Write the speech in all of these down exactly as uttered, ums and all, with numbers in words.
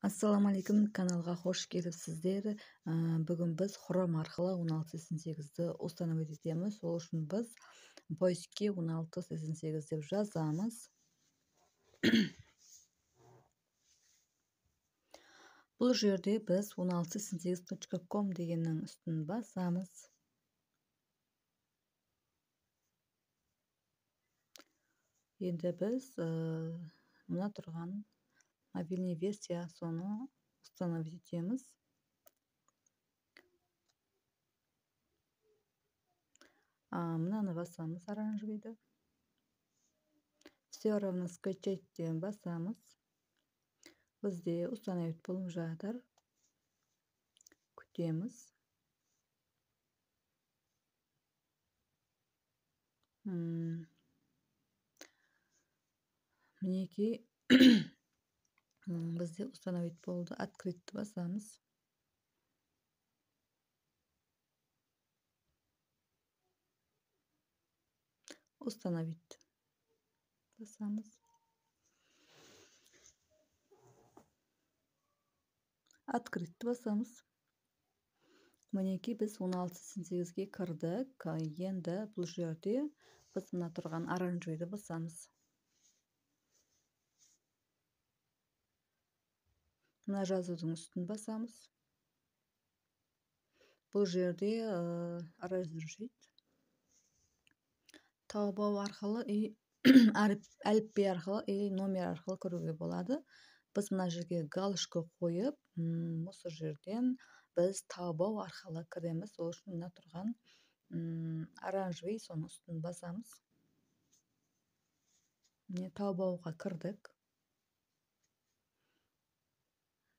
Ассаламалейкум, каналға қош келіпсіздер. Ә, Бүгін біз Chrome арқылы он алты сексен сегізді установить етеміз. Сол үшін біз поиске он алты сексен сегіз деп жазамыз. Бұл жерде біз он алты сексен сегіз точка ком дегеннің үстін басамыз. Енді біз ә, мына тұрған мобильный версия соны установить етеміз. Мынаны басамыз, оранжевыйды. Все равно скачать деген басамыз. Бізде установить болып жатыр. Күтеміз. Мінекей бізде установить болды. Открыть басамыз. Установить басамыз. Открыть басамыз. Мінекей біз он алты сексен сегізге кірдік. Енді бұл жерде біз мына тұрған оранжевыйды басамыз. Мына жазудың үстін басамыз. Бұл жерде разрешить таубау арқылы и әліпби арқылы и номер арқылы көруге болады. Біз мына жерге галочка қойып, осы жерден біз таубау арқылы кіреміз. Ол үшін мына тұрған оранжевый соның үстін басамыз. Міне таубауға кірдік.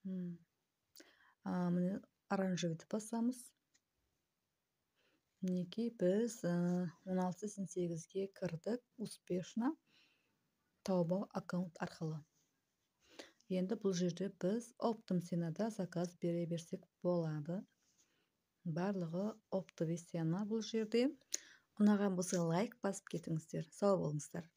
Міне оранжевыйды басамыз. Мінекей біз он алты сексен сегізге кірдік успешно таубау аккаунт арқылы. Енді бұл жерде біз оптом ценада заказ бере берсек болады. Барлығы оптовый цена бұл жерде. Ұнаған болса лайк басып кетіңіздер. Сау болыңыздар.